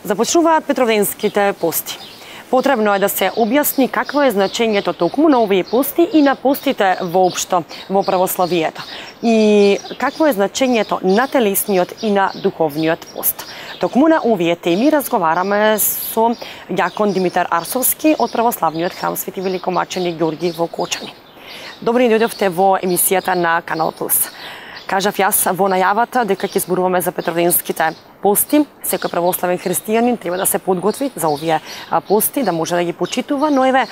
Започнуваат петровденските пости. Потребно е да се објасни какво е значењето токму на овие пости и на постите воопшто во православието. И какво е значењето на телесниот и на духовниот пост. Токму на овие теми разговараме со ѓакон Димитар Арсовски од православниот храм Свети Великомаченик Ѓорги во Кочани. Добри дојдовте во емисијата на Канал Плюс. Кажав јас во најавата дека ќе зборуваме за петровденските пости. Секој православен христијанин треба да се подготви за овие пости, да може да ги почитува, но еве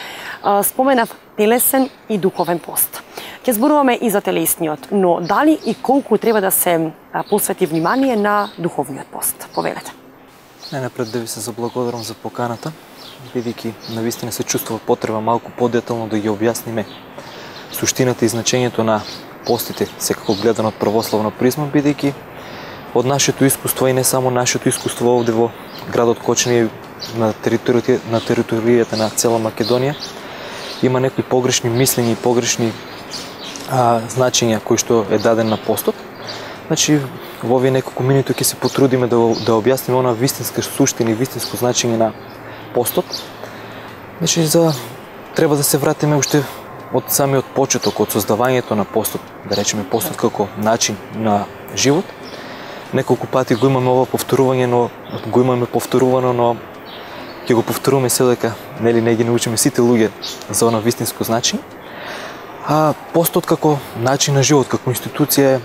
споменав телесен и духовен пост. Ќе зборуваме и за телесниот, но дали и колку треба да се посвети внимание на духовниот пост? Повелете. Најнапред да ви се заблагодарам за поканата, бидејќи навистина се чувствува потреба малку подетално да ги објасниме суштината и значењето на постите, секако гледано од православна призма, бидејќи од нашето искуство и не само нашето искуство овде во градот Кочани, на територијата на цела Македонија, има некои погрешни мислења и погрешни значења кои што е даден на постот. Значи, во овие неколку минути ќе се потрудиме да објасниме она вистинска суштина и вистинско значење на постот. Значи, треба да се вратиме уште од самиот почеток, од создавањето на постот, да речеме постот како начин на живот. Неколку пати го имаме ова повторување, но ќе го повторуваме се дека не ги научиме сите луѓе за она вистинско значење. А постот како начин на живот, како институција е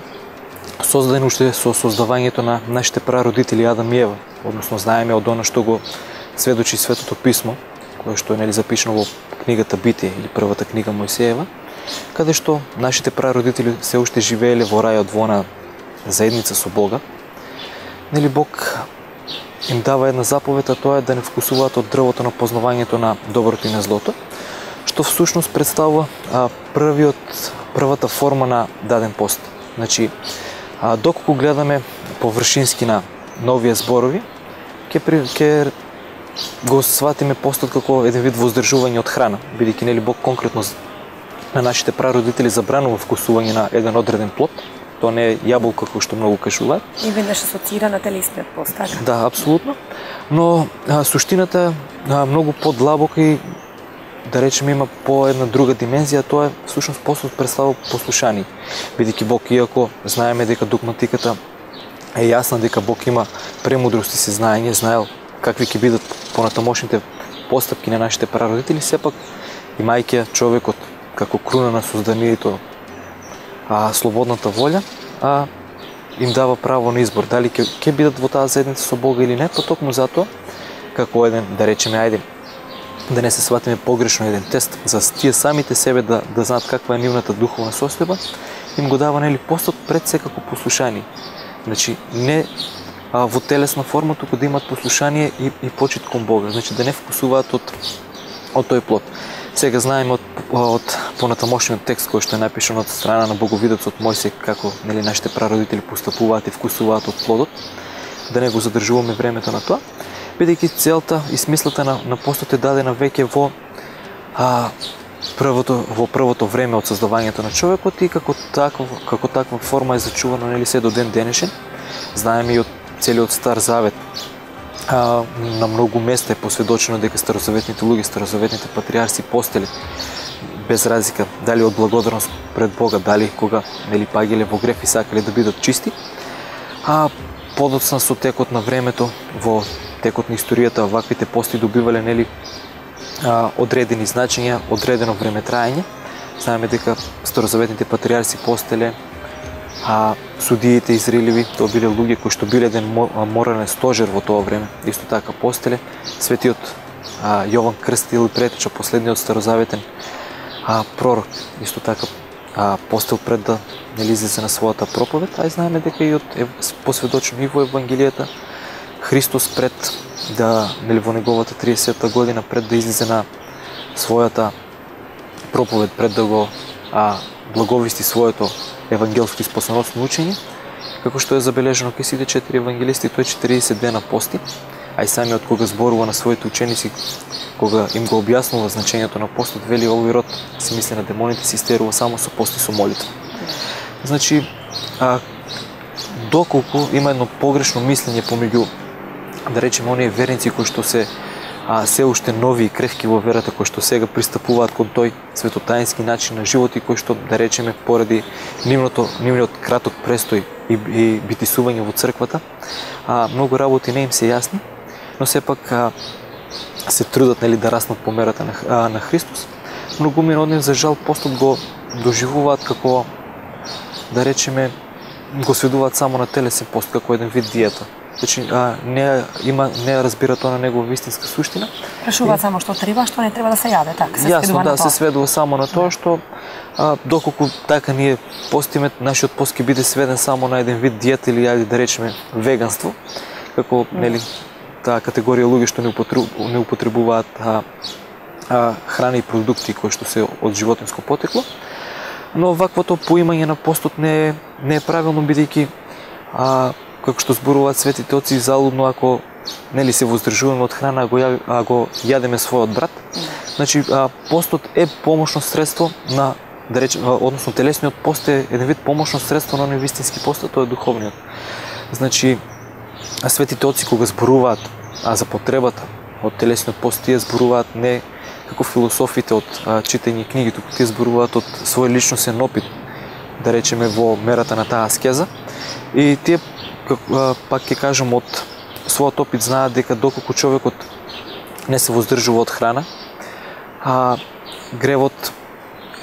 создаден уште со создавањето на нашите прародители Адам и Ева, односно знаеме од она што го сведочи Светото писмо, кое што е запишано во книгата Битие или првата книга Мојсеева, каде што нашите прародители се уште живееле во рајот во она заедница со Бога. Бог им дава една заповед, а тоа е да не вкусуваат од дрвото на познавањето на доброто и на злото, што всушност представува првата форма на даден пост. Значи, доколку гледаме површински на новија зборови, ќе го сватиме постот како еден вид воздржување од храна, бидејќи Бог конкретно на нашите прародители забранува вкусување на еден одреден плод. Тоа не е јаболка кој што многу кажуваат. И веднаш асоцира на телесниот пост, така? Да, апсолутно. Но суштината е многу подлабока и да речеме има по една друга димензија, тоа е всушност постот представува послушание. Бидејќи Бог, иако знаеме дека догматиката е јасна, дека Бог има премудрост и сезнање, знаел какви ќе бидат понатамошните постапки на нашите прародители, сепак имајќи човекот како круна на созданието, слободната волја, им дава право на избор дали ќе бидат во таа заедница со Бога или не, потокму затоа како еден, да речеме, да не се сватиме погрешно, еден тест за тие самите себе да знаат каква е нивната духовна состојба, им го дава постот пред секако послушание. Значи не во телесна форма, туку да имат послушание и почит кон Бога, значи да не вкусуваат од тој плод. Сега знаеме од понатамошниот текст кој што е напишан од страна на боговидецот Мојсей како нашите прародители постапуваат и вкусуваат од плодот, да не го задржуваме времето на тоа, бидејќи целта и смислата на постот е дадена веќе во првото време од создавањето на човекот и како таква форма е зачувана се до ден денешен. Знаеме и од целиот Стар Завет, на многу места е посведочено дека старозаветните луѓе, старозаветните патриарси постеле без разлика дали од благодарност пред Бога, дали кога паѓале во греф и сакале да бидат чисти, подоцна со текот на времето, во текот на историјата, ваквите пости добивале одредени значења, одредено време траење. Знаеме дека старозаветните патриарси постеле, судиите израелеви, тоа биле луѓе кои што биле еден морален стожер во тоа време, исто така постеле. Светиот Јован Крстител и претеча последниот старозаветен пророк, исто така постел пред да излезе на својата проповед, а и знаеме дека и посведочено и во Евангелијата, Христос пред да во неговата 30-та година пред да излезе на својата проповед, пред да го благовести своето евангелско и спасоносно учење, како што е забележано кај сите 4 евангелисти, тој 40 дена пости, а и самиот кога зборува на своите ученици, кога им го објаснува значењето на постот, вели овој род се мисли на демоните, се истерува само со пост и со молитва. Значи, доколку има едно погрешно мислење помеѓу да речеме оние верници кои што се се уште нови и крехки во верата, кои што сега пристапуваат кон тој светотаински начин на живот и кои што, да речеме, поради нивниот краток престој и битисување во црквата, многу работи не им се јасни, но сепак се трудат, нели, да раснат по мерата на Христос. Многумина од нив, за жал, постот го доживуваат како, да речеме, го сведуваат само на телесен пост, како еден вид диета. Значи, не разбира тоа на негова вистинска суштина. Прашуваат само што треба, што не треба да се јаде, така, се јасно, да, се сведува само на тоа што доколку така ние постиме, нашиот пост ќе биде сведен само на еден вид диета или ајде да речеме веганство, како, нели, таа категорија луѓе што не употребуваат храни и продукти кои што се од животинско потекло. Но ваквото поимање на постот не е правилно, бидејќи како што зборуваат светите оци, залудно ако, нели, се воздржуваме од храна, а го јадеме својот брат. Значи, постот е помошно средство на, да речем, односно телесниот пост е еден вид помошно средство на оној вистински пост, тоа е духовниот. Значи, светите оци кога зборуваат за потребата од телесниот пост, тие зборуваат не како философите од читање книги, туку тие зборуваат од свој личносен опит, да речеме, во мерата на таа аскеза. И тие, пак ќе кажам, од својот опит знаат дека доколку човекот не се воздржува од храна, гревот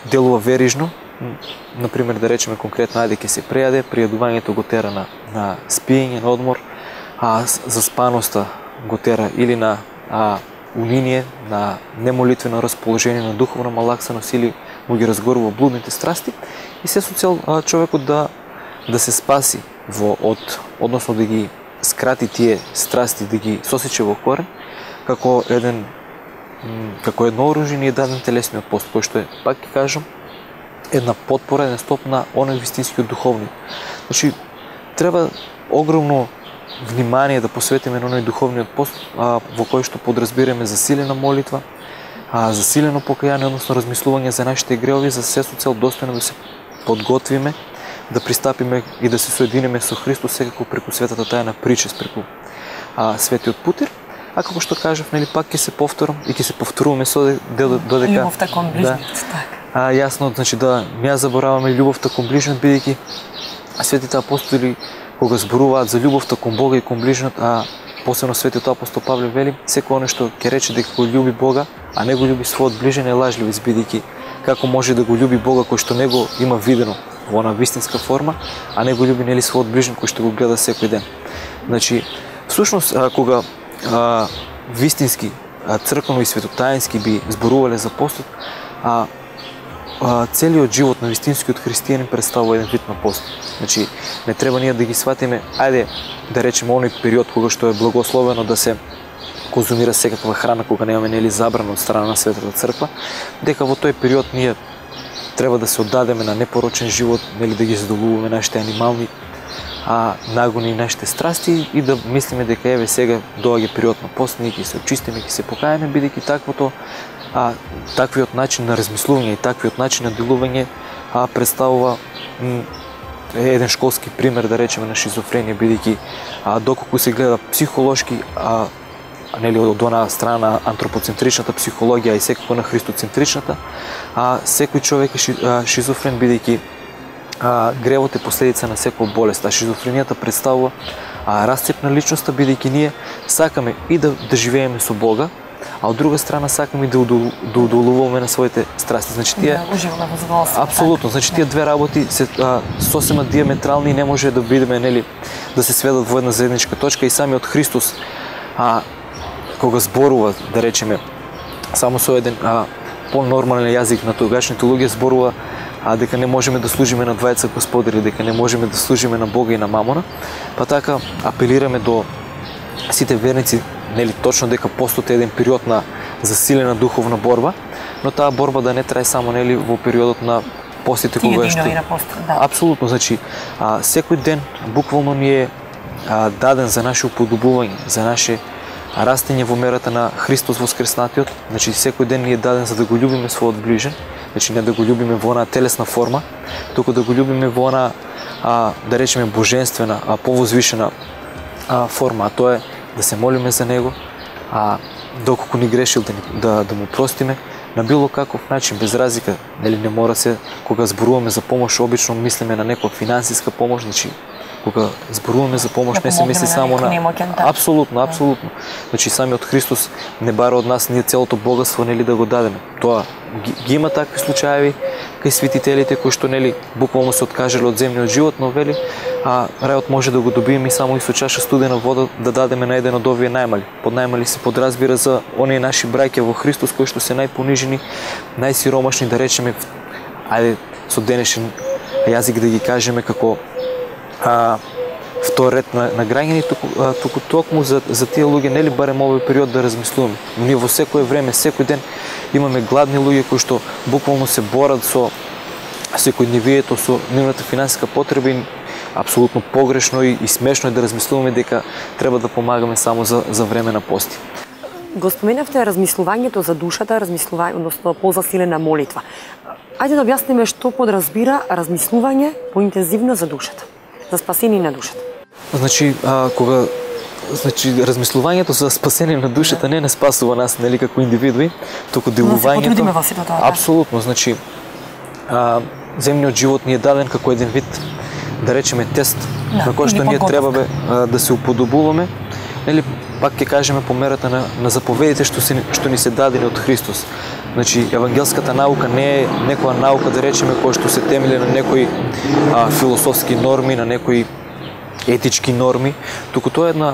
делува верижно. Например, да речеме конкретно, ајде ќе се прејаде, пријадувањето го тера на спиење, на одмор, заспаноста го тера или на униние, на немолитвено расположение, на духовна малаксаност или му ги разгорува блудните страсти и се со цел човекот да се спаси односно да ги скрати тие страсти, да ги сосече во корен, како едно оружје ни е даден телесниот пост, кој што е, пак ќе кажам, една потпора, еден стоп на оној вистинскиот духовниот. Значи, треба огромно внимание да посветиме на оној духовниот пост, во кој што подразбираме засилена молитва, засилено покаяние, односно размислување за нашите гревови, за се со цел достојно да се подготвиме, да пристапиме и да се соединиме со Христос секако преку светата тајна причест, преку светиот путир. А како што кажав, нели, пак ќе се повторам и ќе се повторуваме додека љубовта кон ближниот, така. Јасно, значи да не ја забораваме љубовта кон ближниот, бидејќи светите апостоли кога зборуваат за љубовта кон Бога и кон ближниот, посебно светиот апостол Павле вели, секој оној што ќе рече дека го љуби Бога, а не го љуби својот ближен, е лажливец, бидејќи како може да го љуби Бога кој што не го има видено во она вистинска форма, а не го љуби, нели, својот ближен кој што го гледа секој ден. Значи, всушност, кога вистински, црквено и светотаински би зборувале за постот, целиот живот на вистинскиот христијанин представува еден вид на пост. Значи, не треба ние да ги сватиме, ајде да речеме оној период кога што е благословено да се конзумира секаква храна, кога немаме, нели, забрана од страна на Светата црква, дека во тој период ние треба да се оддадеме на непорочен живот, нели, да ги задоволуваме нашите анимални нагони и нашите страсти и да мислиме дека еве сега доаѓа период на пост, ние ќе се очистиме, ќе се покаеме, бидејќи таквиот начин на размислување и таквиот начин на делување представува еден школски пример, да речеме, на шизофренија, бидејќи доколку се гледа психолошки, нели, од она страна антропоцентричната психологија и секако на христоцентричната, секој човек е шизофрен, бидејќи гревот е последица на секоја болест, а шизофренијата представува расцеп на личноста, бидејќи ние сакаме и да живееме со Бога, а од друга страна сакаме и да удоволуваме на своите страсти. Значи тие уживаме во задоволство. Апсолутно, значи тие две работи се сосема диаметрални и не може да бидеме, нели, да се сведат во една заедничка точка и самиот Христос кога зборува, да речеме, само со еден по-нормален јазик на тогашните луѓе, зборува дека не можеме да служиме на двајца господари, дека не можеме да служиме на Бога и на мамона, па така апелираме до сите верници, нели, точно дека постот е еден период на засилена духовна борба, но таа борба да не трае само, нели, во периодот на постите кога што апсолутно, значи секој ден буквално ни е даден за наше уподобување, за наше растење во мерата на Христос воскреснатиот. Значи секој ден ни е даден за да го љубиме својот ближен, значи не да го љубиме во она телесна форма, туку да го љубиме во она да речеме божествена, повозвишена форма, а тоа е да се молиме за него, а доколку ни грешил да му простиме на било каков начин, без разлика, нели не мора се кога зборуваме за помош, обично мислиме на некоја финансиска помош, значи кога зборуваме за помош не се мисли само на апсолутно. Значи самиот Христос не бара од нас ние целото богатство нели да го дадеме. Тоа ги има такви случаи кај светителите кои што нели буквално се откажале од земниот живот, но вели рајот може да го добиеме и само и со чаша студена вода да дадеме на еден од овие најмали. Под најмали се подразбира за оние наши браќа во Христос кои што се најпонижени, најсиромашни, да речеме, ајде со денешен јазик да ги кажеме како втор ред на граѓани, туку токму за тие луѓе нели барем овој период да размислуваме. Но ние во секое време, секој ден имаме гладни луѓе кои што буквално се борат со секојдневието, со нивната финансиска потреба и апсолутно погрешно и смешно е да размислуваме дека треба да помагаме само за време на пости. Го споменавте размислувањето за душата, односно позасилена молитва. Ајде да објасниме што подразбира размислување поинтензивно за душата, за спасение на душата. Значи, размислувањето за спасение на душата не спасува нас, нели, како индивидуи, туку делувањето. Апсолутно, значи, земниот живот ни е даден како еден вид, да речеме, тест, на кој што ние требаме да се уподобуваме, нели, пак ќе кажеме по мерата на заповедите што ни се дадени од Христос. Значи, евангелската наука не е некоја наука, да речеме, која што се темели на некои философски норми, на некои етички норми, туку тоа е една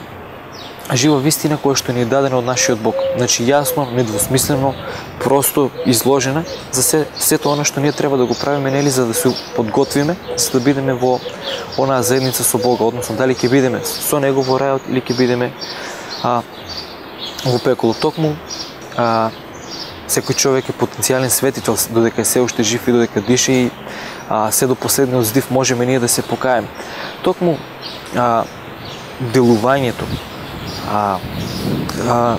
жива вистина која што ни е дадена од нашиот Бог. Значи, јасно, недвосмислено, просто изложена за сето она што ние треба да го правиме, нели, за да се подготвиме, за да бидеме во онаа заедница со Бога, односно дали ќе бидеме со него во рајот или ќе бидеме во пеколо. Токму секој човек е потенцијален светител додека е се уште жив и додека дише и се до последниот здив можеме ние да се покаеме. Токму делувањето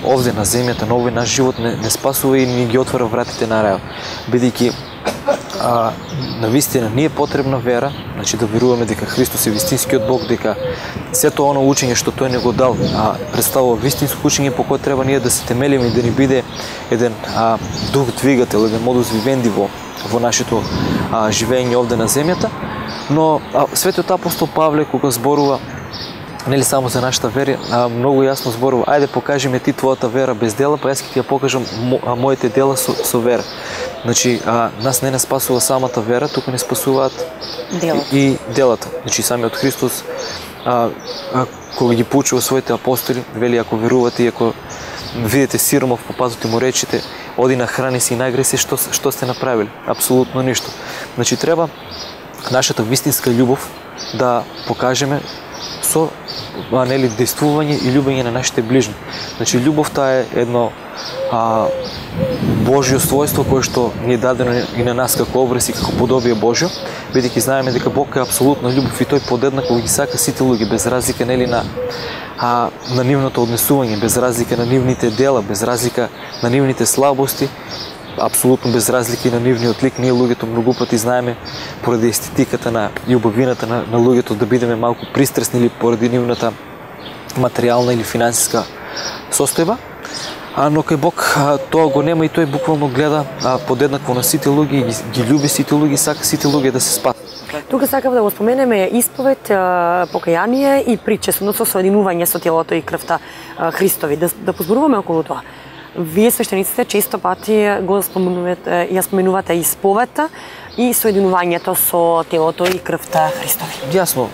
овде на земјата, на овој наш живот не спасува и ни ги отвора вратите на рајот. Бидејќи на вистина ни е потребна вера, значи да веруваме дека Христос е вистинскиот Бог, дека сето оно учење што тој не го дал представува вистинско учење по кое треба ние да се темелиме и да ни биде еден дух двигател, еден модус вивенди во нашето живење овде на земјата. Но светиот апостол Павле кога зборува нели само за нашата вера, многу јасно зборува: ајде покажи ми ти твојата вера без дела, па јас ќе ти ја покажам моите дела со вера. Значи, нас не спасува самата вера, туку не спасуваат и делата. Значи, самиот Христос, кога ги поучува своите апостоли, вели: ако верувате и ако видите сиромав по пазот и му речите: оди на храни си и најгреј се, што сте направили? Апсолутно ништо. Значи, треба нашата вистинска љубов да покажеме со нели действување и љубење на нашите ближни. Значи, љубовта е едно Божјо својство кое што ни е дадено и на нас како образ и како подобие Божјо, бидејќи знаеме дека Бог е апсолутно љубов и тој подеднакво ги сака сите луѓе без разлика нели на нивното однесување, без разлика на нивните дела, без разлика на нивните слабости, апсолутно без разлики на нивниот лик. Ние луѓето многу пати знаеме поради естетиката и убавината на луѓето да бидеме малку пристрасни или поради нивната материјална или финансиска состојба. Но кај Бог тоа го нема и тој буквално гледа подеднакво на сите луѓе, ги љуби сите луѓе и сака сите луѓе да се спасат. Тука сакав да го споменеме исповед, покаяние и причест, односно соединување со телото и крвта Христови. Да позборуваме околу тоа. Вие свештениците често пати ја споменувате исповедта и соединувањето со телото и крвта Христови. Јасно,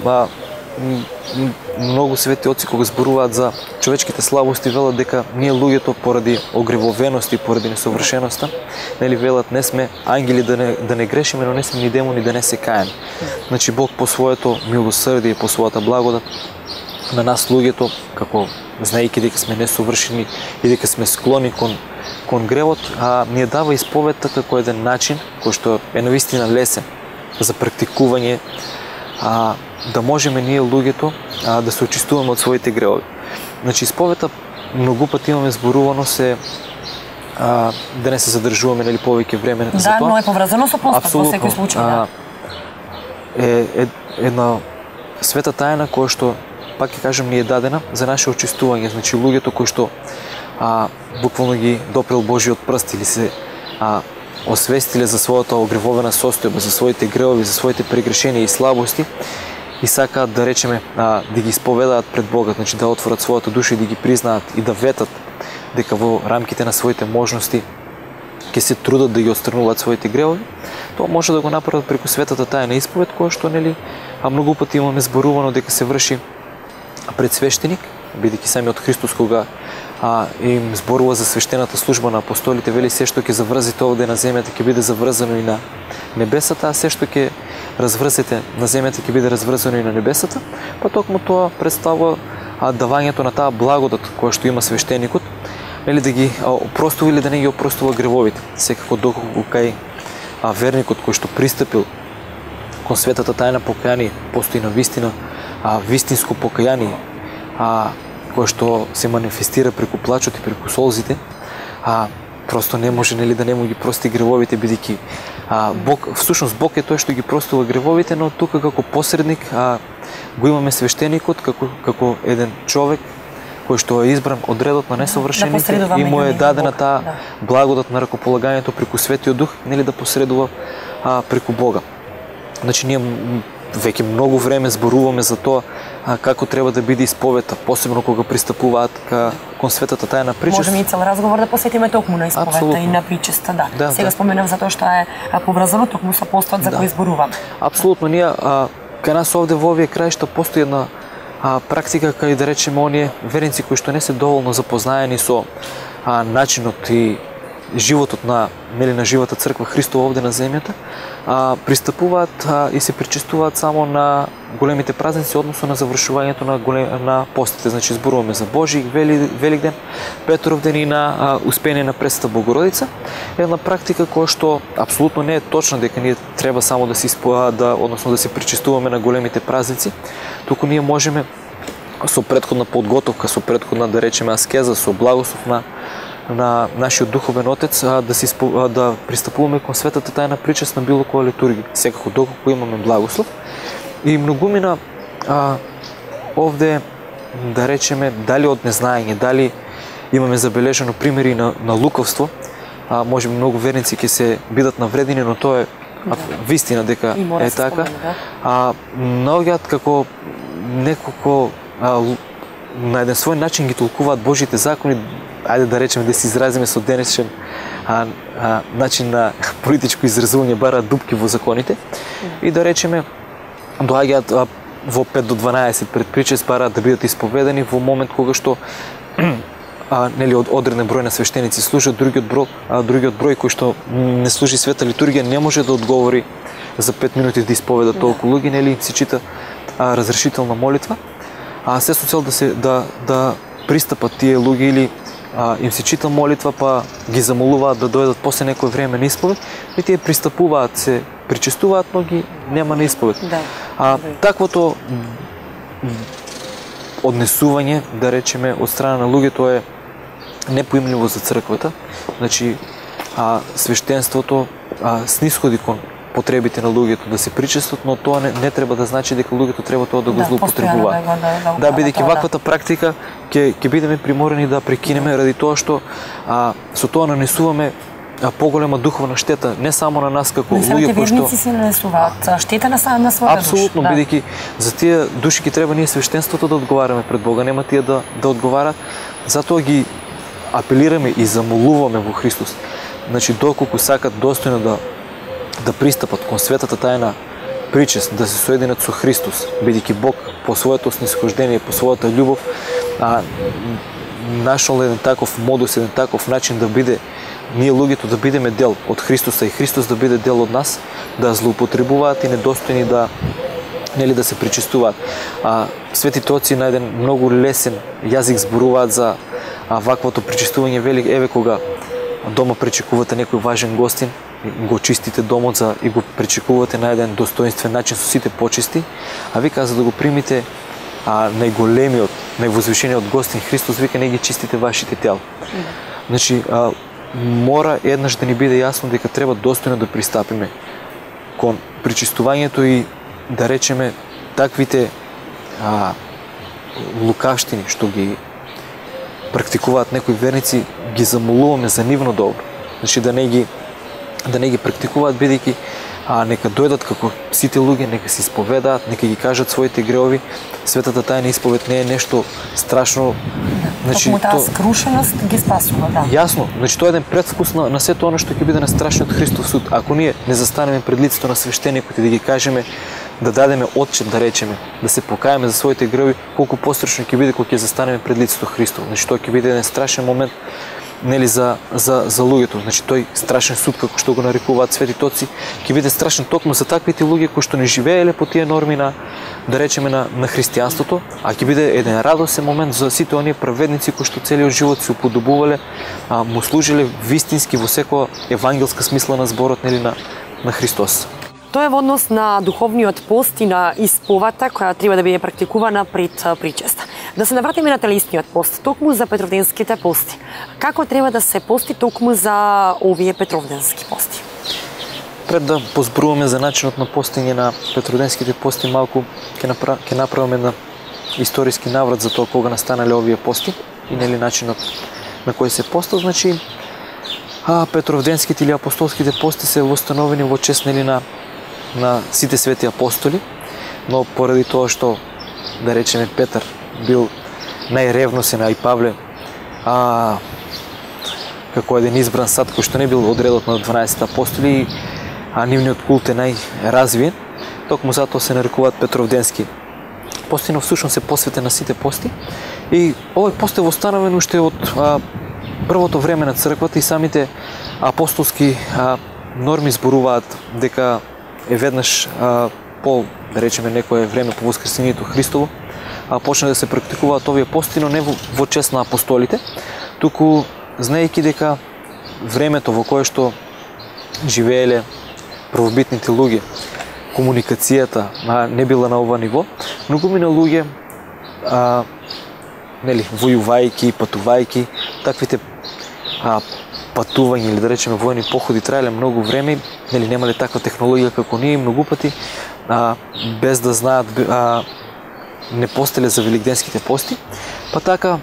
многу свети отци кога зборуваат за човечките слабости велат дека ние луѓето поради огревовеност и поради несовршеноста, нели велат не сме ангели да не грешиме, но не сме ни демони да не се каеме. Значи Бог по своето милосрдие, по својата благодат на нас луѓето, како знаејќи дека сме несовршени и дека сме склони кон гревот, ни дава исповедта како еден начин кој што е навистина лесен за практикување, да можеме ние луѓето да се очистуваме од своите гревови. Значи исповедта многу пати имаме зборувано се да не се задржуваме нели повеќе време за тоа. Да, но е поврзано со постот во секој случај. Е една света тајна која што пак ќе кажам, ни е дадена за наше очистување. Значи луѓето кои што буквално ги допрел Божиот прст или се освестиле за својата огревовена состојба, за своите гревови, за своите прегрешенија и слабости и сакаат да речеме да ги исповедаат пред Бога, значи да отворат својата душа и да ги признаат и да ветат дека во рамките на своите можности ќе се трудат да ги отстрануваат своите гревови, тоа може да го направат преку светата тајна исповед, која што нели многу пати имаме зборувано дека се врши пред свештеник, бидејќи самиот Христос кога им зборува за свештената служба на апостолите, вели се што ќе заврзите овде на земјата ќе биде заврзано и на небесата, а се што ќе разврзете на земјата ќе биде разврзано и на небесата, па токму тоа представува давањето на таа благодат која што има свештеникот, нели да ги опростува или да не ги опростува гревовите. Секако доколку кај верникот кој што пристапил кон светата тајна покаяние, постои на вистина вистинско покаяние, кое што се манифестира преку плачот и преку солзите, просто не може нели да не му ги прости гревовите, бидејќи Бог, всушност Бог е тој што ги простува гревовите, но тука како посредник го имаме свештеникот како еден човек кој што е избран од редот на несовршените и му е дадена таа благодат на ракополагањето преку Светиот Дух, нели да посредува преку Бога. Значи ние веќе многу време зборуваме за тоа како треба да биде исповета, посебно кога пристапуваат кон светата тајна причест. Можеме и цел разговор да посветиме токму на исповета. Абсолютно. И на причеста, да. Сега споменав за тоа што е поврзано токму со постот за кој зборуваме. Апсолутно, ние кај нас овде во овие краишта постои една практика кај да речеме оние верници кои што не се доволно запознаени со начинот и животот на живата црква Христова овде на земјата, пристапуваат и се причестуваат само на големите празници, односно на завршувањето на постите. Значи зборуваме за Божи, Великден, Петров ден и на Успение на Пресвета Богородица. Една практика која што апсолутно не е точна дека ние треба само да се причестуваме на големите празници, туку ние можеме со претходна подготовка, со претходна да речеме аскеза, со благослов на нашиот духовен отец да пристапуваме кон светата тајна причест на било која литургија, секако доколку имаме благослов. И многумина овде да речеме дали од незнаење, дали имаме забележено примери на лукавство, можеби многу верници ќе се бидат навредени, но тоа е вистина дека е така. Многиот како неколку на еден свој начин ги толкуваат Божите закони, ајде да речеме да се изразиме со денешен начин на политичко изразување, бараат дупки во законите и да речеме доаѓаат во 5 до 12 пред причест, бараат да бидат исповедани во момент кога што нели од одреден број на свештеници служат, другиот број кој што не служи света литургија не може да одговори за 5 минути да исповеда толку луѓе, нели се чита разрешителна молитва, се со цел да пристапат тие луѓе или им се чита молитва, па ги замолуваат да дојдат после некој време на исповед и тие пристапуваат, се причестуваат, но ги нема на исповед. Таквото однесување, да речеме, од страна на луѓето е непоимливо за црквата. Значи, свештенството снисходи кон потребите на луѓето да се причестват, но тоа не треба да значи дека луѓето треба тоа да го злоупотребуваат. Да, бидејќи ваквата практика ќе бидеме приморени да прекинеме ради тоа што со тоа нанесуваме поголема духовна штета не само на нас како луѓе кои што верници се нанесуваат штета на својата душа. Апсолутно, бидејќи за тие души ќе треба ние свештенството да одговараме пред Бога, нема тие да одговарат. Затоа ги апелираме и замолуваме во Христос. Значи доколку сакат достојно да пристапат кон светата тајна причест, да се соединат со Христос, бидејќи Бог по своето снисхождение, по својата љубов нашол еден таков модус, еден таков начин да биде ние луѓето да бидеме дел од Христоса и Христос да биде дел од нас, да злоупотребуваат и недостојни да се причестуваат. Светите отци на еден многу лесен јазик зборуваат за ваквото причестување, вели еве кога дома пречекувате некој важен гостин, го чистите домот и го пречекувате на еден достоинствен начин со сите почести, а вика за да го примите најголемиот, највозвишениот гостин Христос, вика не ги чистите вашите тела. Значи мора еднаш да ни биде јасно дека треба достојно да пристапиме кон причистувањето и да речеме таквите лукавштини што ги практикуваат некои верници, ги замолуваме за нивно добро. Значи да не ги практикуваат, бидејќи нека дојдат како сите луѓе, нека се исповедаат, нека ги кажат своите греови. Светата тајна исповед не е нешто страшно. Значи, таа скрушеност ги спасува, да. Јасно, значи тоа е еден предвкус на сето оно што ќе биде на страшниот Христов суд. Ако ние не застанеме пред лицето на свештеникот и да ги кажеме, да дадеме отчет, да речеме, да се покаеме за своите греови, колку пострашно ќе биде кога ќе застанеме пред лицето Христово. Значи тоа ќе биде еден страшен момент, нели, за луѓето. Значи тој страшен суд, како што го нарекуваат светите, ќе биде страшен токму за таквите луѓе кои што не живееле по тие норми на, да речеме, на христијанството, а ќе биде еден радосен момент за сите оние праведници кои што целиот живот се уподобувале, му служиле вистински во секоја евангелска смисла на зборот, нели, на Христос. Тоа е во однос на духовниот пост и на исповата која треба да биде практикувана пред причеста. Да се навратиме на телесниот пост, токму за петровденските пости. Како треба да се пости токму за овие петровденски пости? Пред да позборуваме за начинот на постење на петровденските пости, малку ќе направиме на историски наврат за тоа кога настанале овие пости и нели начинот на кој се постат. Значи петровденските или апостолските пости се востановени во чест, нели, на сите свети апостоли, но поради тоа што, да речеме, Петар бил најревносен, а и Павле како еден избран сад кој што не бил од редот на 12 апостоли, а нивниот култ е најразвиен, токму затоа се нарекуваат петровденски пости, но всушност се посветен на сите пости. И овој пост е востановен уште од првото време на црквата и самите апостолски норми зборуваат дека е веднаш по, да речеме, некое време по воскресението Христово, почна да се практикуваат овие пости, но не во чест на апостолите, туку знаејќи дека времето во кое што живееле првобитните луѓе, комуникацијата не била на ова ниво, многумина луѓе нели, војувајќи, патувајќи, таквите патување или, да речеме, војни походи траеле многу време, нели, немале таква технологија како ние, многу пати без да знаат не постеле за великденските пости, па така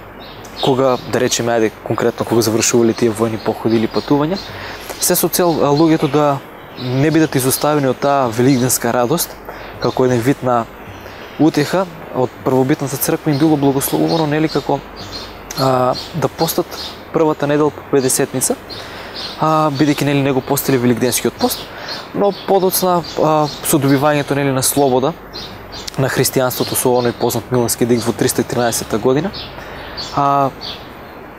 кога, да речеме, ајде конкретно кога завршувале тие војни походи или патувања, се со цел луѓето да не бидат изоставени од таа великденска радост, како еден вид на утеха, од првобитната црква им било благословувано, нели, како да постат првата недела по 50-ница, бидејќи, нели, не го постели великденскиот пост, но подоцна со добивањето, нели, на слобода на христијанството со оној познат Милански дикт во 313 година,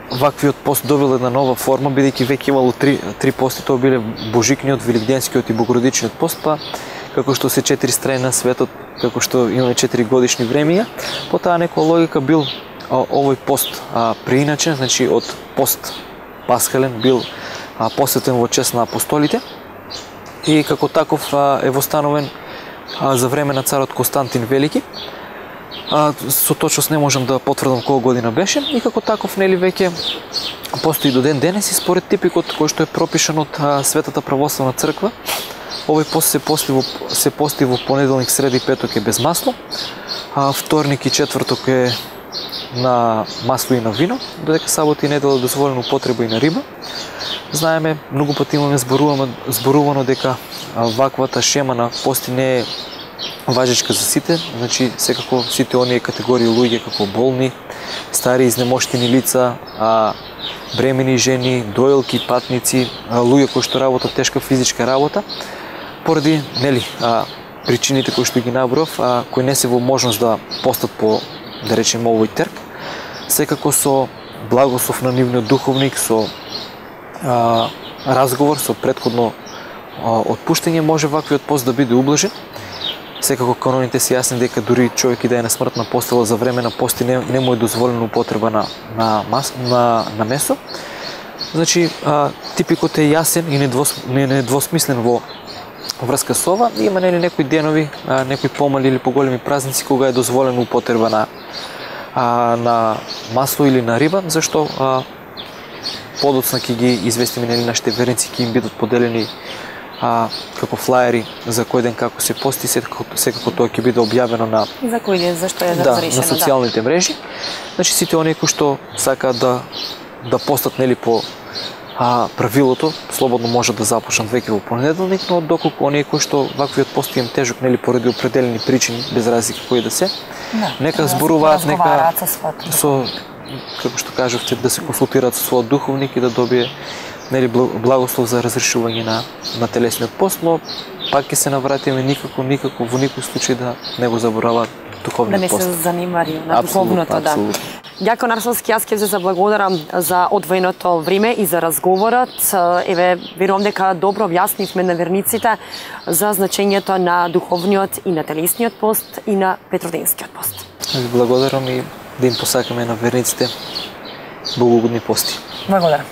ваквиот пост добил една нова форма, бидејќи веќе имало три пости, тоа биле божикниот, великденскиот и богородичниот пост, па како што се 4 страни на светот, како што имаме 4 годишни времења, по таа некоја логика бил овој пост преиначен, значи од пост пасхален бил посветен во чест на апостолите и како таков е востановен за време на царот Константин Велики. Со точност не можам да потврдам кога година беше и како таков, нели, веќе постои до ден денес и според типикот кој што е пропишан од Светата православна црква. Овој пост се пости во понеделник, среда и петок е без масло, вторник и четврток е на масло и на вино, додека сабота и недела е дозволена употреба и на риба. Знаеме, многу пати имаме зборувано дека ваквата шема на пости не е важечка за сите, значи секако сите оние категории луѓе како болни, стари изнемоштени лица, бремени жени, доилки, патници, луѓе кои што работат тешка физичка работа, поради, нели, причините кои што ги наброав, кои не се во можност да постат по, да речем, овој терк, секако со благослов на нивниот духовник, со разговор, со претходно отпуштање може ваквиот пост да биде ублажен. Секако каноните се јасни дека дури човек и да е на смртна постела за време на пости не му е дозволена употреба на месо. Значи, типикот е јасен и недвосмислен во врска со ова. Има, нели, некои денови, некои помали или поголеми празници кога е дозволена употреба на масло или на риба, зашто подоцна ќе ги известиме, нели, нашите верници, ќе им бидат поделени како флаери за кој ден како се пости, секако тоа ќе биде објавено на За кој ден, зашто е на разрешено? социјалните мрежи. Значи сите оние кои што сакаат да постат нели по правилото, слободно може да започнат веќе во понеделник, но доколку оние кои што ваквиот пост им тежок нели поради определени причини, без разлика кои да се, нека зборуваат, нека со како што кажавте, да се консултираат со својот духовник и да добие нели благослов за разрешување на телесниот пост, но пак ќе се навратиме никако во никој случај да не го забораваат духовниот пост. Да не се занимари на духовното, да. Дјакон Арсовски, јас ќе се заблагодарам за одвоеното време и за разговорот. Еве, верувам дека добро објаснивме на верниците за значењето на духовниот и на телесниот пост и на петроденскиот пост. Ви благодарам и да им посакаме на верниците богогодни пости. Благодарам.